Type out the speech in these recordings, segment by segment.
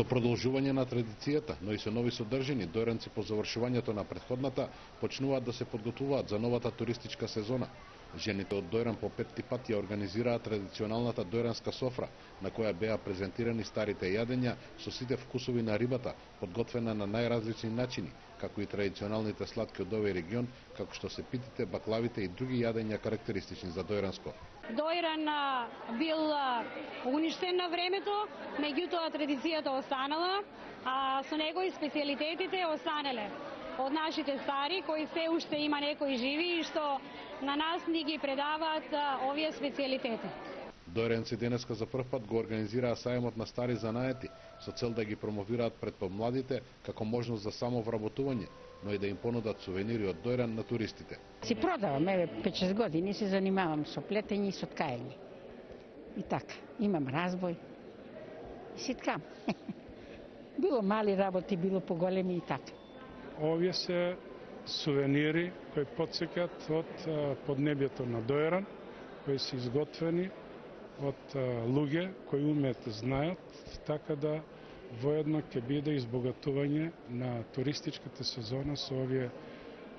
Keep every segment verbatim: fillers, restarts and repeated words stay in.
Со продолжување на традицијата, но и со нови содржини, дојранци по завршувањето на претходната почнуваат да се подготвуваат за новата туристичка сезона. Жените од Дојран по петти пат ја организираа традиционалната дојранска софра, на која беа презентирани старите јадења со сите вкусови на рибата, подготвена на најразлични начини, како и традиционалните сладки од овој регион, како што се питите, баклавите и други јадења карактеристични за Дојранско. Дојран бил уништен на времето, меѓутоа традицијата останала, а со него и специјалитетите останале од нашите стари, кои се уште има некои живи и што на нас ни ги предаваат овие специјалитети. Дојранци денеска за прв пат го организираа сајмот на стари занаети, со цел да ги промовираат пред помладите како можност за самовработување, но и да им понудат сувенири од Дојран на туристите. Си продавам, еве пет-шест години се занимавам со плетење и со ткаење. И така, имам разбој и си ткам. Било мали работи, било поголеми и така. Овие се сувенири кои потсекат од поднебјето на Дојран, кои се изготвени од луѓе кои умеат, знаат, така да воедно ќе биде избогатување на туристичката сезона со овие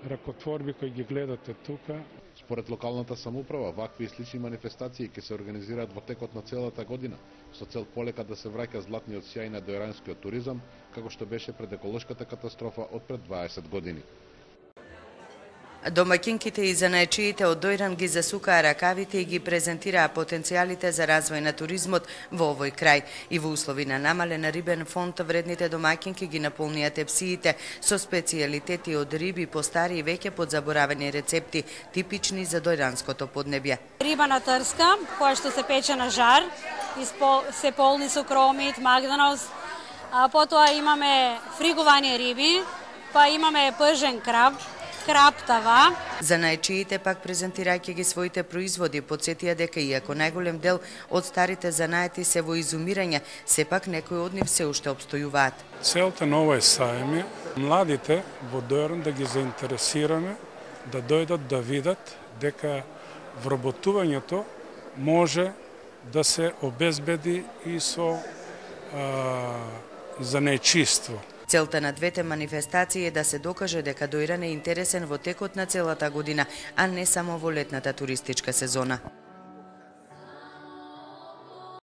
ракотворби кои ги гледате тука. Според локалната самоуправа, вакви и слични манифестации ќе се организираат во текот на целата година, со цел полека да се враќа златниот сјај на дојранскиот туризам, како што беше пред еколошката катастрофа од пред дваесет години. Домаќинките и занаечиите од Дојран ги засукаа ракавите и ги презентираа потенцијалите за развој на туризмот во овој крај. И во услови на намален рибен фонд, вредните домаќинки ги наполнија тепсиите со специјалитети од риби по стари и веќе подзаборавени рецепти, типични за дојранското поднебје. Риба на трска, која што се пече на жар, се полни со кромит, магданоз, а потоа имаме фриговани риби, па имаме пържен краб, краптава. Занаечиите пак презентирајќи ги своите производи, потсетија дека иако најголем дел од старите занаети се во изумирање, сепак некои од нив се уште обстојуваат. Целта на овој сајм е младите во Дојран да ги заинтересираме, да дојдат да видат дека вработувањето може да се обезбеди и со а, занаечиство. Целта на двете манифестации е да се докаже дека Дојран е интересен во текот на целата година, а не само во летната туристичка сезона.